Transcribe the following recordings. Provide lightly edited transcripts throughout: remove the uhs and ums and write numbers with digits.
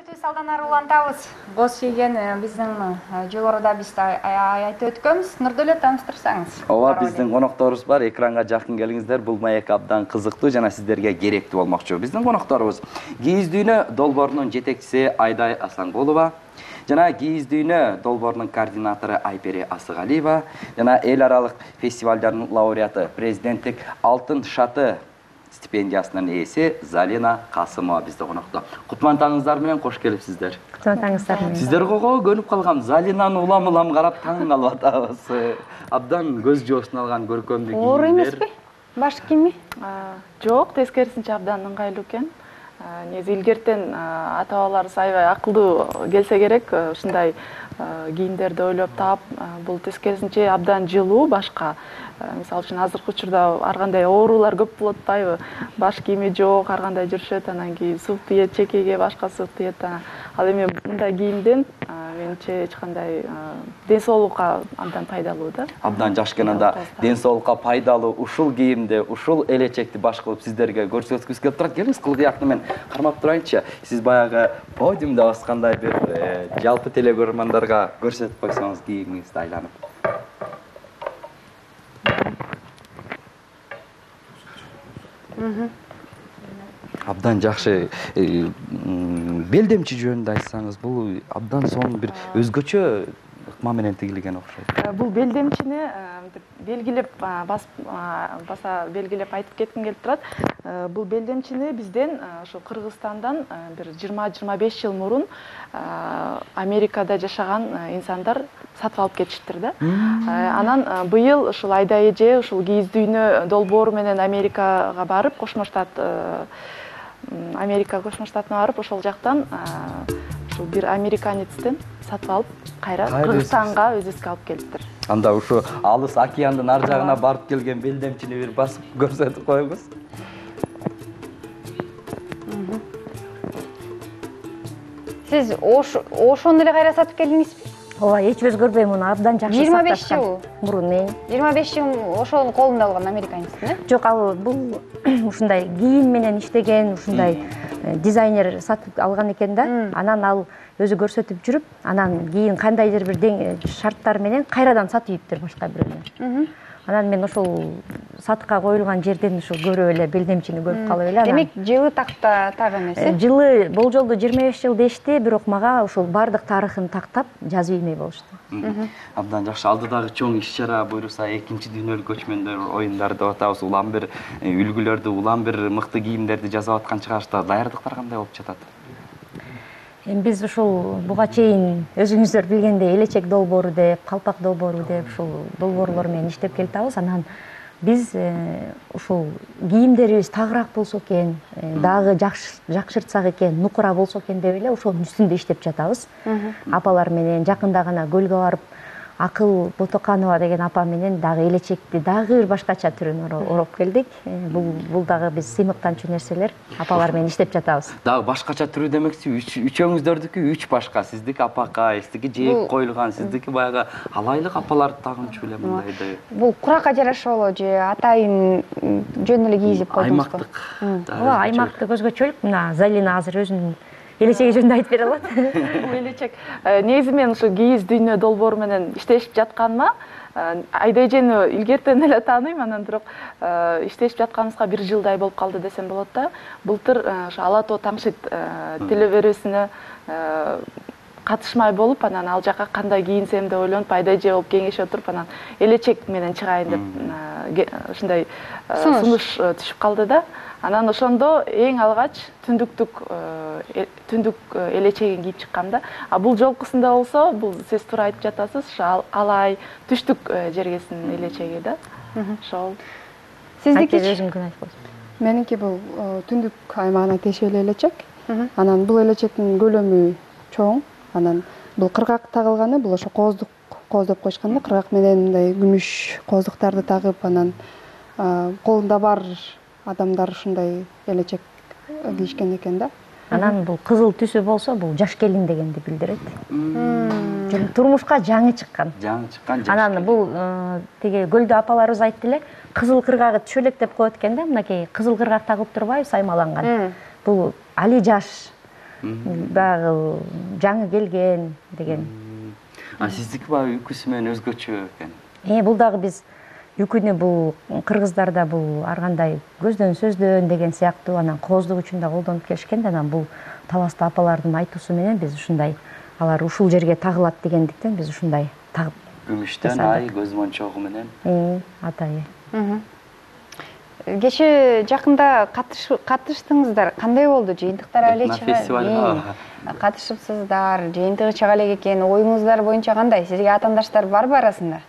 Көрсөтүү салданары улантабыз. Боз кийген биздин жогоруда биз айтып өткөнбүз. Нурдөлөт тааныштырсаңыз. Ооба, биздин конокторубуз бар. Экранга жакын келиңиздер. Бул маек абдан кызыктуу жана сиздерге керектүү болмокчу. Биздин конокторубуз Кийиз дүйнө долбоорунун жетекчиси Айдай Асанкулова жана Кийиз дүйнө долбоорунун координатору Айпери Асыгалиева жана эл аралык фестивалдардын лауреаты, президенттик алтын шаты стипендиясынын ээси Залина Касымова бизде конокто. Кутман таңыңыздар менен кош келипсиздер. Кутман таңыңыздар менен. Сиздер кого көнүп калгам, Залинаны улам карап таң калып атабыз. Абдан көз жоосун алган көркөмдүү кийимдер. Оор эмеспи? Баш кийими? Жок, тескерисинче абдан ыңгайлуу экен. Негизи илгертен ата-бабаларыбыз аябай акылдуу келсе керек, ушундай кийимдерди ойлоп таап, бул тескерисинче абдан жылуу башка. Мисалы үчүн азыркы учурда ар кандай оорулар көп болуп атпайбы? Баш кийими жок, ар кандай жүрүшөт, анан кийин сук тиет, чекеге башка сук тиет. Ал эми мындай кийимден менимче эч кандай ден соолукка абдан пайдалуу да. Абдан жакшы экен. Анда ден соолукка пайдалуу ушул кийимди, ушул элечекти баш кылып сиздерге көрсөткүбүз келип турат. Келиңиз, кылгыякты мен кармап турайынчы. Сиз баягы подиумда баскандай бир жалпы телекөрөрмандарга көрсөтүп койсоңуз кийимиңизди айланып. Абдан жакшы. Белдемчи жөнүндө айтсаңыз, бул абдан сонун бир өзгөчө ыкма менен тигилген окшойт. Бул белдемчини белгилеп баса белгилеп айтып кетким келип турат. Бул белдемчини бизден ошо Кыргызстандан бир 20-25 жыл мурун Америкада жашаган инсандар сатып алып кетиштир да. Анан быйыл ушул Айдай эже ушул Кийиз дүйнө долбоору менен Америка Кошмо Штатына барып, ошол жактан ушул бир американецтен сатып алып, кайра Кыргызстанга өзүбүзгө алып келиптир. Анда ушу алыс океандын ар жагына барып келген белдемчини бир басып көрсөтүп коюңуз. Сиз ошону эле кайра сатып келдиңизби? Ооба, эч өзгөрбөй муну абдан жакшы сакташкан. 25 жыл мурун. 25 жыл ошонун колунда алган американецтин, Жок, ал бул ушундай кийим менен иштеген, ушундай дизайнер сатып алган экен да. Анан ал өзү көрсөтүп жүрүп, анан кийин кандайдыр бир шарттар менен кайрадан сатып ийиптир башка бирөөнө. Анан мен ошол сатыкка коюлган жерден ушул көрүп эле белдемчини көрүп калып эле. Демек, жылы так эмес, Жылы болжолдо 25 жыл дешти, бирок мага ушул бардык тарыхын тактап жазып иймей болушту. Абдан жакшы. Алдыдагы чоң иш-чара буюрса, экинчи дүйнөлүк көчмөндөр оюндары деп атабыз. Улам бир үлгүлөрдү, улам бир мыкты кийимдерди жасап аткан чыгарышта даярдыктар кандай болуп жатат? Биз ушул буга чейин өзүңүздөр билгендей элечек долбоору деп, калпак долбоору деп ушул долбоорлор менен иштеп келатабыз. Анан биз ушул кийимдерибиз тагыраак болсо экен, дагы жакшыртсак экен, нукура болсо экен деп эле ошонун үстүндө иштеп жатабыз. Апалар менен жакында гана көлгө барып, Акыл Ботоканова деген апа менен дагы элечекти дагы бир башкача түрүн ороп келдик. Бул дагы биз сыймыктанчу нерселер, апалар менен иштеп жатабыз. Дагы башкача түрү демекчи, үчөөңүздөрдүкү 3 башка. Сиздики апакай, сиздики жээк коюлган, сиздики баягы алайлык апаларды тагынчу эле мындайды. Бул куракка жараша болобу же атайын жөн эле кийип койдуңузбу? Аймактык. Ооба, аймактык өзгөчөлүк. Мына Залина азыр өзүнүн элечеги жөнүндө айтып бере алат. Бул элечек. Негизи мен ушу Кийиз дүйнө долбоору менен иштешип жатканыма Айдай эжени илгертен эле тааныйм, анан бирок иштешип жатканыбызга 1 жылдай болуп калды десем болот да. Былтыр ошо Ала Тоо Таңшыйт телеберүүсүнө катышмай болуп, анан ал жака кандай кийинсем деп ойлонуп, Айдай эже болуп кеңешип отуруп, анан элечек менен чыгайын деп ушундай сунуш түшүп калды да. Анан ошондо эң алгач түндүк элечегин кийип чыккам да. Бул жолкусунда болсо, бул сиз туура айтып жатасыз, ошо алай түштүк жергесинин элечеги да. Ошол. Сиздики өзүңүн айтып койсоң. Меники бул түндүк аймагына тиешелүү элечек. Анан бул элечектин көлөмү чоң. Анан бул кыргак тагылганы, бул ошо кооздук деп коюшкан да. Кыргак менен мындай күмүш кооздуктарды тагып, анан колунда бар адамдар ушундай элечек кийишкен экен да. Анан бул кызыл түсү болсо, бул жаш келин дегенди билдирет. Турмушка жаңы чыккан. Анан бул тиги көлдө апаларыбыз айтты эле, кызыл кыргагы түшөлөк деп коет экен да, мынакей кызыл кыргак тагып турбайбы, саймаланган. Бул али жаш баягы жаңы келген деген. Сиздики баягы үкүсү менен өзгөчө экен. Бул дагы биз үкүнү бул кыргыздарда бул ар кандай көздөн сөздөн деген сыяктуу анан кооздук үчүн да колдонуп келишкен да, анан бул таласта апалардын айтуусу менен биз ушундай алар ушул жерге тагылат дегендиктен биз ушундай тагып Күмүштөн ай көз мончогу менен. Атайы. Кечээ жакында катыштыңыздар. Кандай болду? Жыйынтыктар эле фестивалга катышыпсыздар. Жыйынтыгы чыга элек экен. Оюңуздар боюнча кандай? Сизге атаандаштар барбы арасында?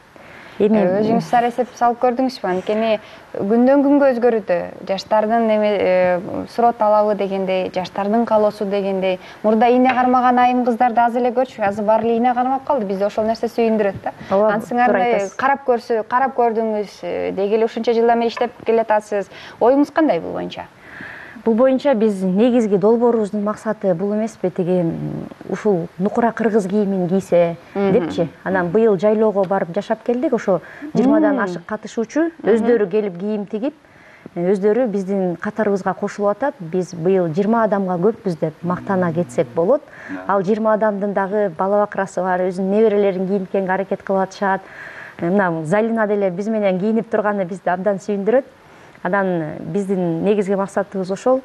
Өзүңүз сар эсеп салып көрдүңүзбү? Анткени күндөн күнгө өзгөрүүдө. Жаштардын суроо талабы дегендей, жаштардын каалоосу дегендей. Мурда ийне кармаган айым кыздарды аз эле көрчү, азыр баары эле ийне кармап калды. Бизди ошол нерсе сүйүндүрөт да. Ансыңар карап көрдүңүз, деги эле ушунча жылдан бери иштеп келатасыз. Оюңуз кандай бул боюнча? Бул боюнча биз негизги долбоорубуздун максаты бул эмеспи, тиги ушул нукура кыргыз кийимин кийсе депчи. Анан быйыл жайлоого барып жашап келдик. Ошо 20 ашык катышуучу өздөрү келип кийим тигип, өздөрү биздин катарыбызга кошулуп атат. Биз быйыл 20 адамга көппүз деп мактана кетсек болот. Ал 20 адамдын дагы бала бакрасы бар, өзүнүн неберелерин кийинткенге аракет кылып атышат. Мына Залина деле биз менен кийинип турганы бизди абдан сүйүндүрөт. Анан биздин негизги максатыбыз ушул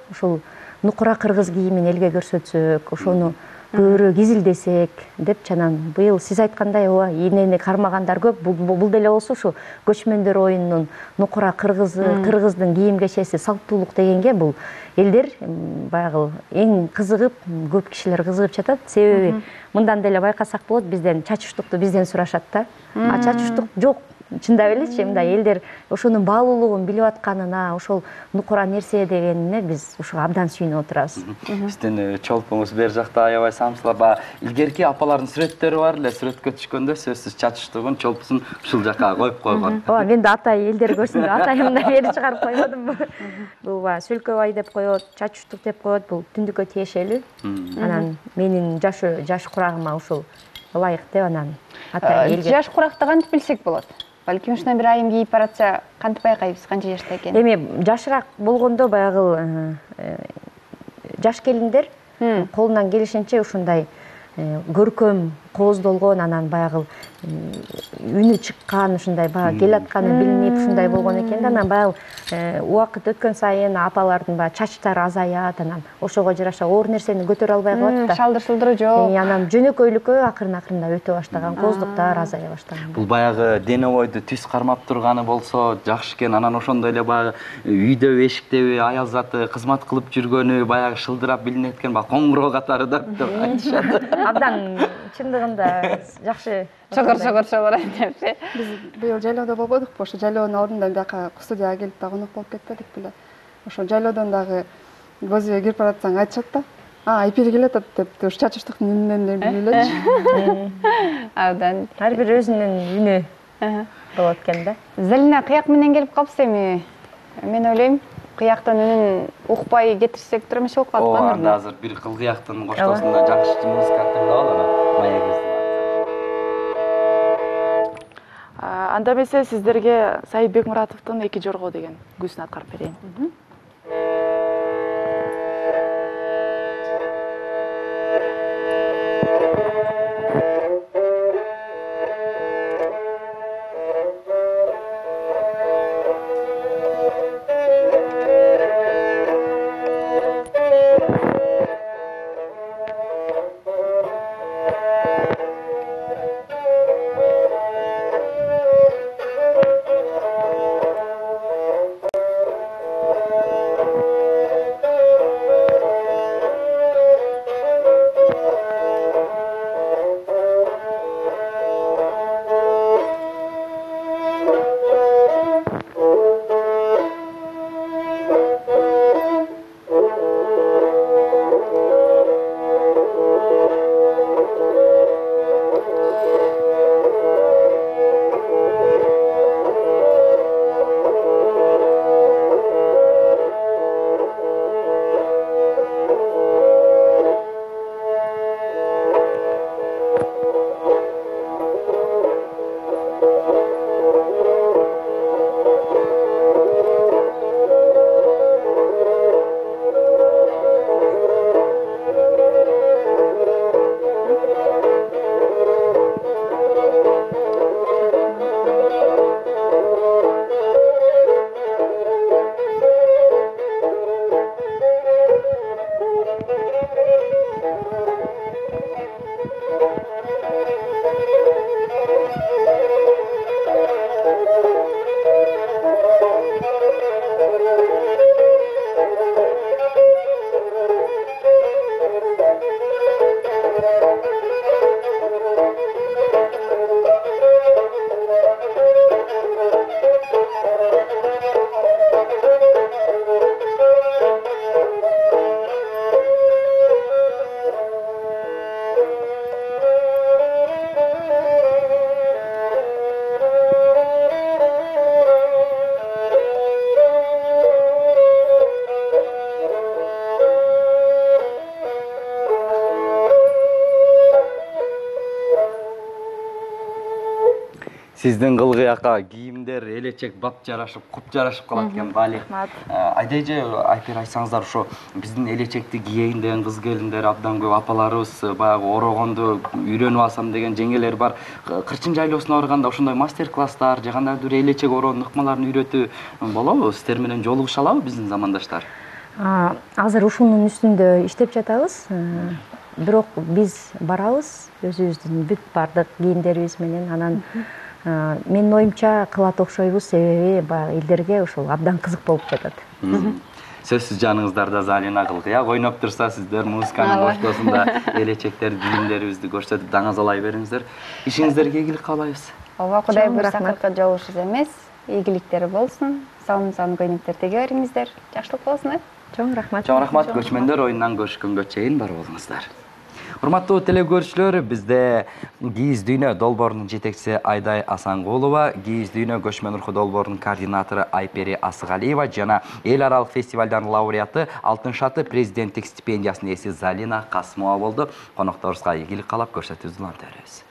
нукура кыргыз кийимин элге көрсөтсөк, ошону көбүрөөк изилдесек депчи. Анан быйыл сиз айткандай ийнени кармагандар көп. Бул деле болсо ушу көчмөндөр оюнунун нукура кыргыздын кийим кечеси салттуулук дегенге бул элдер баягы эң кызыгып, көп кишилер кызыгып жатат. Себеби мындан деле байкасак болот, бизден чач уштукту бизден сурашат да. А чач уштук жок. Чындап элечи, мындай элдер ошонун баалуулугун билип атканына, ошол нукура нерсе дегенине биз ушуга абдан сүйүнүп отурабыз. Сиздин чолпоңуз бер жакта аябай самсылап, илгерки апалардын сүрөттөрү бар эле. Сүрөткө түшкөндө сөзсүз чачыштугун, чолпусун ушул жака коюп койгон. Мен да атай элдер көрсүн деп атайымды бери чыгарып коймодумбу. Бул баягы Сөлкөбай деп коет, чач уштук деп коет. Бул түндүккө тиешелүү. Анан менин жаш курагыма ушул ылайык деп анан атай элге. Жаш куракты кантип билсек болот? Балким ушундай бир айым кийип баратса, кантип байкайбыз канча жашта экенин? Эми жашыраак болгондо баягы жаш келиндер колунан келишинче ушундай көркөм кооздолгон, анан баягы үнү чыккан, ушундай баягы келатканы билинип ушундай болгон экен да. Анан баягы убакыт өткөн сайын апалардын баягы чачтары азаят, анан ошого жараша оор нерсени көтөрө албай калат да. Шалдыр-шулдуру жок. Анан жөнөкөйлүккө акырын-акырында өтө баштаган, кооздуктар азая баштаган. Бул баягы дене бойду түз кармап турганы болсо жакшы экен. Анан ошондой эле баягы үйдө эшиктеби аял заты кызмат кылып жүргөнү баягы шылдырап билинет экен, баягы коңгуроо катары деп айтышат. Абдан чындыгында жакшы Чогор айтыпчы. Биз быйыл жайлоодо болбодукпу? Ошо жайлоонун ордунда бияка студияга келип да конок болуп кетпедик беле? Ошо жайлоодон дагы көз үйгө кирип баратсаң айтышат да. Айпир келатат деп, ушу чач уштуктун үнүнөн эле билип элечи. Абдан. ар бир өзүнүн үнү болот экен да. Залина кыяк менен келип калпсыз эми. Мен ойлойм, кыяктан үнүн укпай кетирсек тура эмес болуп калат го. Анда азыр бир кыл кыяктын коштоосун да жакшы музыка тыңдап алалы. Маегиз. Анда эмесе сиздерге Саид Бекмуратовдун Эки жорго деген күзүн аткарып берейин. Сиздин кылгыякка кийимдер элечек бап жарашып, куп жарашып калат экен, Бали. Айдай эже, Айпер айтсаңыздар, ошо биздин элечекти кийейин деген кыз келиндер абдан көп, апаларыбыз баягы орогонду үйрөнүп алсам деген жеңгелер бар. Кырчын жайлоосуна барганда ошондой мастер-класстар же кандайдыр бир элечек ороонун ыкмаларын үйрөтүү болобу? Сиздер менен жолугуша алабы биздин замандаштар? Азыр ушунун үстүндө иштеп жатабыз. Бирок биз барабыз өзүбүздүн бүт бардык кийимдерибиз менен. Анан менин оюмча кылат окшойбуз, себеби баягы элдерге ушул абдан кызык болуп жатат. Сөзсүз жаныңыздарда Залина кылгыяк ойноп турса, сиздер музыканын боштосунда элечектер, кийимдерибизди көрсөтүп даңазалай бериңиздер. Ишиңиздерге ийгилик каалайбыз. Ооба, Кудай буйрса кыркы жолугушубуз эмес, ийгиликтер болсун. Салым-салым көйнөктөр теге бериңиздер. Жакшылык болсун. Чоң рахмат. Чоң рахмат. Көчмөндөр оюнунан көрүшкөнгө чейин бар болуңуздар. Урматтуу телекөрүүчүлөр, бизде Кийиз дүйнө долбоорунун жетекчиси Айдай Асангулова, Кийиз дүйнө көчмөн руху долбоорунун координатору Айпери Асыгалиева жана эл аралык фестивалдардын лауреаты Алтын шаты президенттик стипендиясынын ээси Залина Касымова болду. Конокторубузга ийгилик каалап көрсөтүүбүздү уланта беребиз.